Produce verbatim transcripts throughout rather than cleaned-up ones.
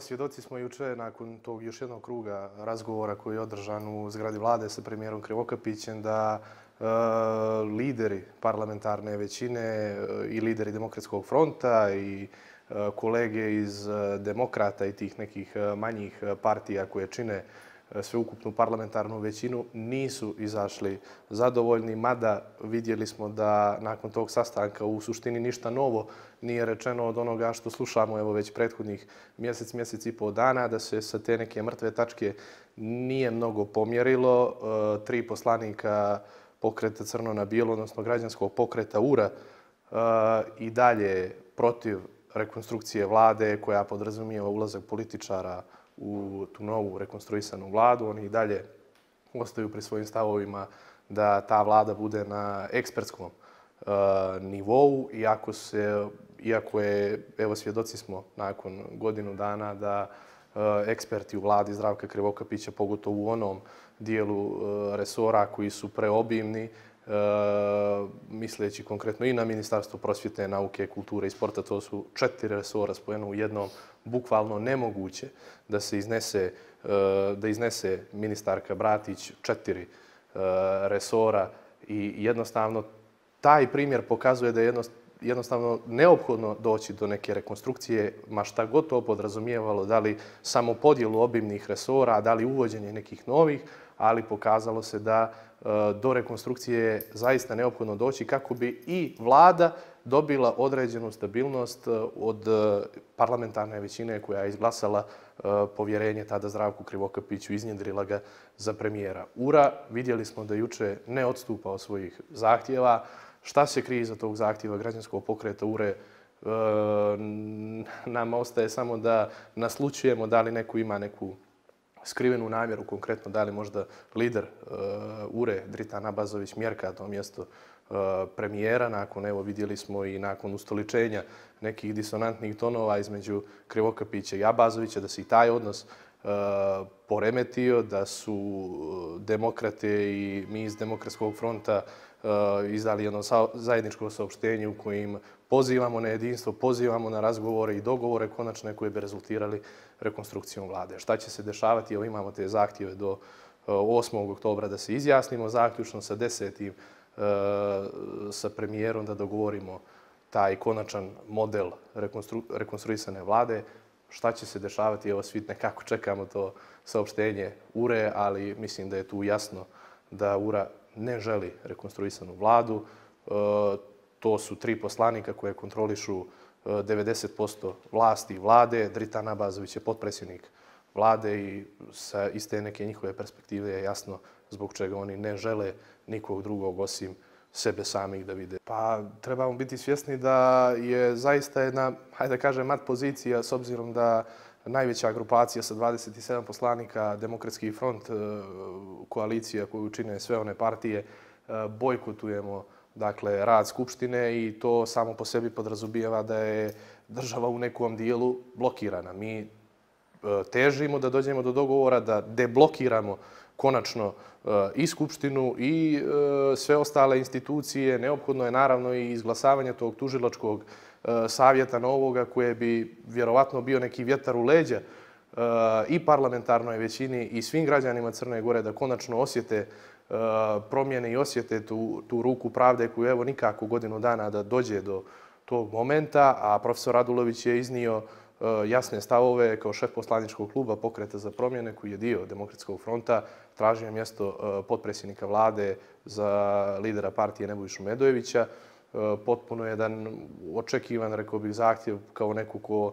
Svjedoci smo juče nakon tog još jednog kruga razgovora koji je održan u zgradi vlade sa premijerom Krivokapićem da e, lideri parlamentarne većine e, i lideri Demokratskog fronta i e, kolege iz e, demokrata i tih nekih e, manjih partija koje čine e, sveukupnu parlamentarnu većinu nisu izašli zadovoljni, mada vidjeli smo da nakon tog sastanka u suštini ništa novo nije rečeno od onoga što slušamo evo već prethodnih mjesec, mjesec i pol dana, da se sa te neke mrtve tačke nije mnogo pomjerilo. E, tri poslanika pokreta Crno na bijelo, odnosno građanskog pokreta U R A e, i dalje protiv rekonstrukcije vlade koja podrazumijeva ulazak političara u tu novu rekonstruisanu vladu. Oni i dalje ostaju pri svojim stavovima da ta vlada bude na ekspertskom uh, nivou, iako, se, iako je, evo svjedoci smo nakon godinu dana da uh, eksperti u vladi Zdravka Krivokapića, pogotovo u onom dijelu uh, resora koji su preobimni, uh, misleći konkretno i na Ministarstvo prosvjete, nauke, kulture i sporta, to su četiri resora spojeno u jednom, bukvalno nemoguće da se iznese, uh, da iznese ministarka Bratić četiri uh, resora i jednostavno taj primjer pokazuje da je jednostavno neophodno doći do neke rekonstrukcije, ma šta god to podrazumijevalo, da li samo podjelu obimnih resora, da li uvođenje nekih novih, ali pokazalo se da uh, do rekonstrukcije je zaista neophodno doći kako bi i vlada dobila određenu stabilnost od parlamentarne većine koja je izglasala povjerenje tada Zdravku Krivokapiću, iznjedrila ga za premijera. U R A vidjeli smo da juče ne odstupa od svojih zahtjeva. Šta se krije iza tog zahtjeva građanskog pokreta U R A? Nama ostaje samo da naslučujemo da li neko ima neku skrivenu namjeru, konkretno da li možda lider U R A Dritan Abazović mjerka to mjesto premijera. Nakon, evo vidjeli smo i nakon ustoličenja nekih disonantnih tonova između Krivokapića i Abazovića, da se i taj odnos uh, poremetio, da su demokrate i mi iz Demokratskog fronta uh, izdali jedno zajedničko saopštenje u kojim pozivamo na jedinstvo, pozivamo na razgovore i dogovore konačne koje bi rezultirali rekonstrukcijom vlade. Šta će se dešavati? Evo imamo te zahtjeve do uh, osmog oktobra da se izjasnimo, zaključno sa desetim sa premijerom da dogovorimo taj konačan model rekonstru, rekonstruisane vlade. Šta će se dešavati? Evo svi nekako čekamo to saopštenje U R A, ali mislim da je tu jasno da U R A ne želi rekonstruisanu vladu. E, to su tri poslanika koje kontrolišu devedeset posto vlasti vlade. Dritan Abazović je potpredsjednik vlade i sa iste neke njihove perspektive je jasno zbog čega oni ne žele nikog drugog osim sebe samih da vide. Pa trebamo biti svjesni da je zaista jedna, hajde da kažem, mat pozicija s obzirom da najveća grupacija sa dvadeset sedam poslanika, Demokratski front, koalicija koju čine sve one partije, bojkotujemo dakle, rad Skupštine i to samo po sebi podrazumijeva da je država u nekom dijelu blokirana. Mi težimo da dođemo do dogovora, da deblokiramo konačno i Skupštinu i sve ostale institucije. Neophodno je naravno i izglasavanje tog tužilačkog savjeta novoga koje bi vjerovatno bio neki vjetar u leđa i parlamentarnoj većini i svim građanima Crne Gore da konačno osjete promjene i osjete tu, tu ruku pravde koju evo nikako godinu dana da dođe do tog momenta, a profesor Radulović je iznio jasne stavove kao šef poslaničkog kluba Pokreta za promjene koji je dio Demokratskog fronta, tražio mjesto potpredsjednika vlade za lidera partije Nebojšu Medojevića. Potpuno jedan očekivan, rekao bih, zahtjev kao neko ko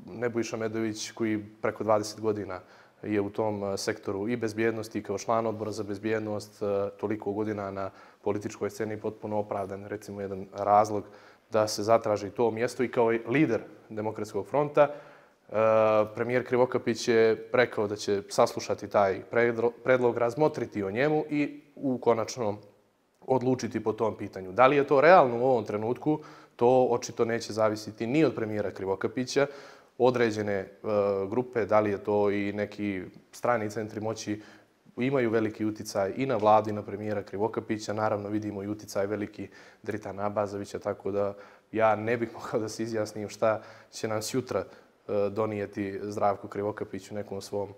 Nebojša Medojević koji preko dvadeset godina je u tom sektoru i bezbjednosti kao član odbora za bezbjednost, toliko godina na političkoj sceni potpuno opravdan, recimo jedan razlog da se zatraži to mjesto i kao lider Demokratskog fronta. Premijer Krivokapić je rekao da će saslušati taj predlog, razmotriti o njemu i u konačnom odlučiti po tom pitanju. Da li je to realno u ovom trenutku, to očito neće zavisiti ni od premijera Krivokapića. Određene grupe, da li je to i neki strani centri moći, imaju veliki uticaj i na vladu i na premijera Krivokapića. Naravno vidimo i uticaj veliki Dritana Abazovića, tako da ja ne bih mogao da se izjasnim šta će nam sutra donijeti Zdravko Krivokapić u nekom svom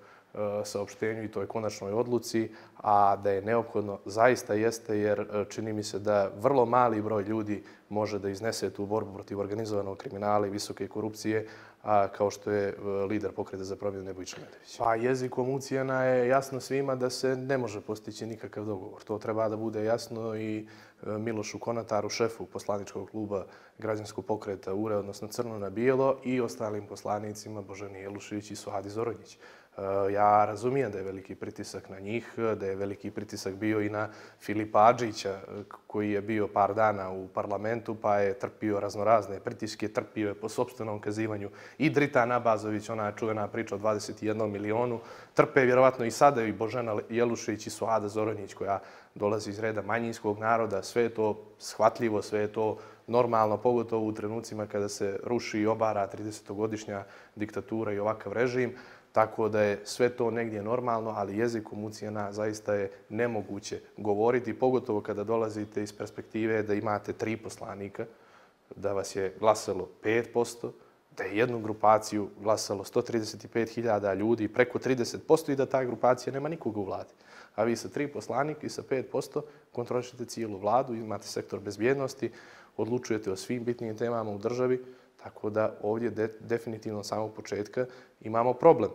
saopštenju i toj konačnoj odluci, a da je neophodno zaista jeste, jer čini mi se da vrlo mali broj ljudi može da iznese tu borbu protiv organizovanog kriminala i visoke korupcije, a kao što je lider Pokreta za promjenu Nebojša Medović. Pa jezikom ucjena je jasno svima da se ne može postići nikakav dogovor. To treba da bude jasno i Milošu Konataru, šefu poslaničkog kluba Građanskog pokreta U R E, odnosno Crno na bijelo, i ostalim poslanicima Božani Jelušić i Suhadi Zoronjić. Ja razumijem da je veliki pritisak na njih, da je veliki pritisak bio i na Filipa Adžića, koji je bio par dana u parlamentu, pa je trpio raznorazne pritiske, trpio je po sopstvenom kazivanju i Dritan Abazović, ona čuvena priča o dvadeset jednom milionu, trpe vjerovatno i sada i Božana Jelušić i Suhada Zoronjić, koja dolazi iz reda manjinskog naroda. Sve je to shvatljivo, sve je to normalno, pogotovo u trenucima kada se ruši i obara tridesetogodišnja diktatura i ovakav režim. Tako da je sve to negdje normalno, ali jezikom ucjena zaista je nemoguće govoriti, pogotovo kada dolazite iz perspektive da imate tri poslanika, da vas je glasalo pet posto, da je jednu grupaciju glasalo sto trideset pet hiljada ljudi, preko trideset posto, i da ta grupacija nema nikoga u vladi. A vi sa tri poslanika i sa pet posto kontrolišete cijelu vladu, imate sektor bezbjednosti, odlučujete o svim bitnim temama u državi. Tako da ovdje de, definitivno od samog početka imamo problem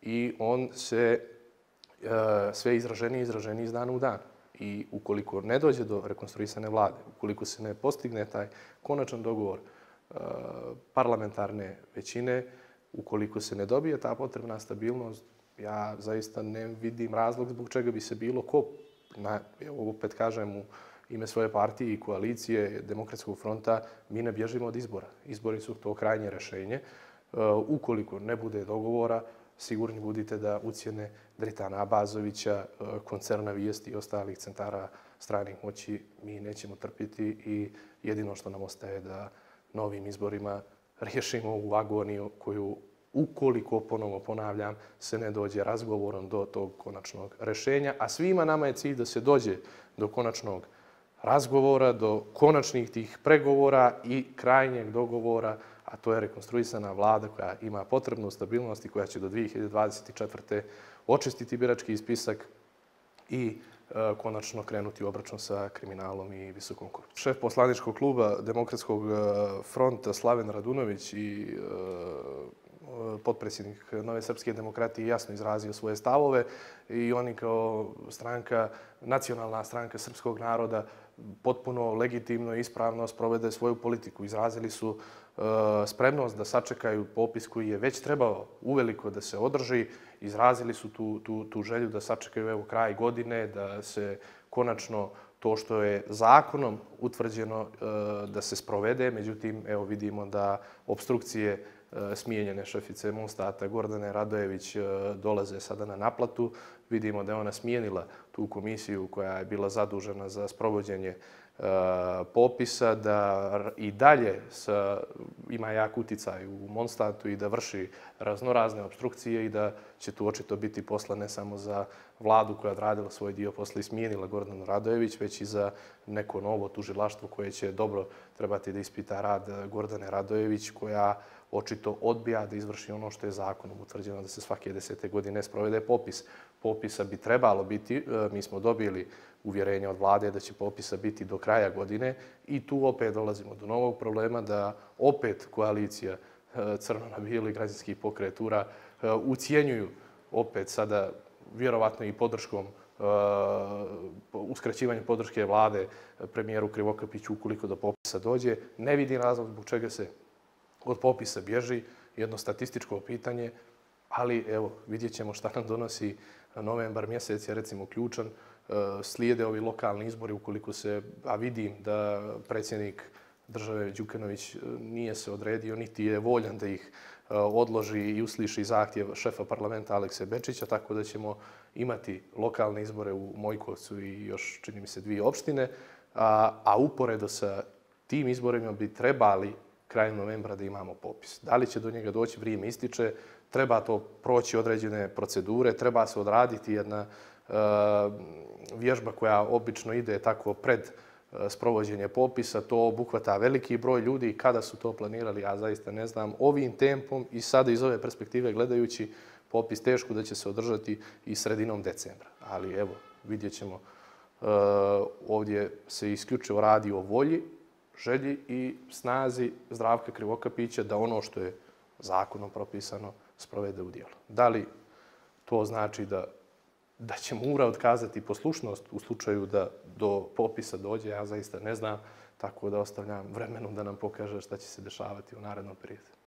i on se e, sve izraženiji i izraženiji iz dana u dan. I ukoliko ne dođe do rekonstruisane vlade, ukoliko se ne postigne taj konačan dogovor e, parlamentarne većine, ukoliko se ne dobije ta potrebna stabilnost, ja zaista ne vidim razlog zbog čega bi se bilo ko, na, evo opet kažem, u ime svoje partije i koalicije Demokratskog fronta, mi ne bježimo od izbora. Izbori su to krajnje rješenje. Ukoliko ne bude dogovora, sigurni budite da ucjene Dritana Abazovića, koncerna Vijesti i ostalih centara stranih moći mi nećemo trpiti i jedino što nam ostaje da novim izborima riješimo ovu agoniju koju, ukoliko, ponovo ponavljam, se ne dođe razgovorom do tog konačnog rješenja. A svima nama je cilj da se dođe do konačnog razgovora, do konačnih tih pregovora i krajnjeg dogovora, a to je rekonstruisana vlada koja ima potrebnu stabilnost i koja će do dvije hiljade dvadeset četvrte očistiti birački spisak i e, konačno krenuti u obračun sa kriminalom i visokom korupcijom. Šef poslaničkog kluba Demokratskog fronta Slaven Radunović i e, potpredsjednik Nove srpske demokratije jasno izrazio svoje stavove i oni kao stranka, nacionalna stranka srpskog naroda, potpuno legitimno i ispravno sprovede svoju politiku. Izrazili su uh, spremnost da sačekaju popis koji je već trebao uveliko da se održi. Izrazili su tu, tu, tu želju da sačekaju evo kraj godine, da se konačno to što je zakonom utvrđeno uh, da se sprovede. Međutim, evo vidimo da obstrukcije smijenjene šefice Mostata Gordane Radojević dolaze sada na naplatu. Vidimo da je ona smijenila tu komisiju koja je bila zadužena za sprovođenje popisa, da i dalje sa, ima jak uticaj u Monstatu i da vrši raznorazne obstrukcije i da će tu očito biti posla ne samo za vladu koja je odradila svoj dio posla i smijenila Gordanu Radojević, već i za neko novo tužilaštvo koje će dobro trebati da ispita rad Gordane Radojević, koja očito odbija da izvrši ono što je zakonom utvrđeno da se svake desete godine sprovede popis. Popisa bi trebalo biti, mi smo dobili uvjerenje od vlade da će popisa biti do kraja godine i tu opet dolazimo do novog problema da opet koalicija Crno na bijelo i Građanski pokret U R A ucijenjuju opet sada vjerovatno i podrškom uskraćivanje podrške vlade premijeru Krivokapiću ukoliko do popisa dođe. Ne vidim razlog zbog čega se od popisa bježi, jedno statističko pitanje, ali evo, vidjet ćemo šta nam donosi novembar mjesec, je recimo ključan. Slijede ovi lokalni izbori ukoliko se, a vidim da predsjednik države Đukanović nije se odredio, niti je voljan da ih odloži i usliši zahtjev šefa parlamenta Alekse Bečića, tako da ćemo imati lokalne izbore u Mojkovcu i još, čini mi se, dvije opštine, a, a uporedo sa tim izborima bi trebali krajem novembra da imamo popis. Da li će do njega doći, vrijeme ističe, treba to proći određene procedure, treba se odraditi jedna uh, vježba koja obično ide tako pred sprovođenje popisa, to obuhvata veliki broj ljudi. Kada su to planirali, ja zaista ne znam. Ovim tempom i sada iz ove perspektive gledajući, popis teško da će se održati i sredinom decembra. Ali evo, vidjet ćemo. Ovdje se isključivo radi o volji, želji i snazi Zdravka Krivokapića da ono što je zakonom propisano sprovede u djelo. Da li to znači da da će Mura otkazati poslušnost u slučaju da do popisa dođe, ja zaista ne znam, tako da ostavljam vremenu da nam pokaže šta će se dešavati u narednom periodu.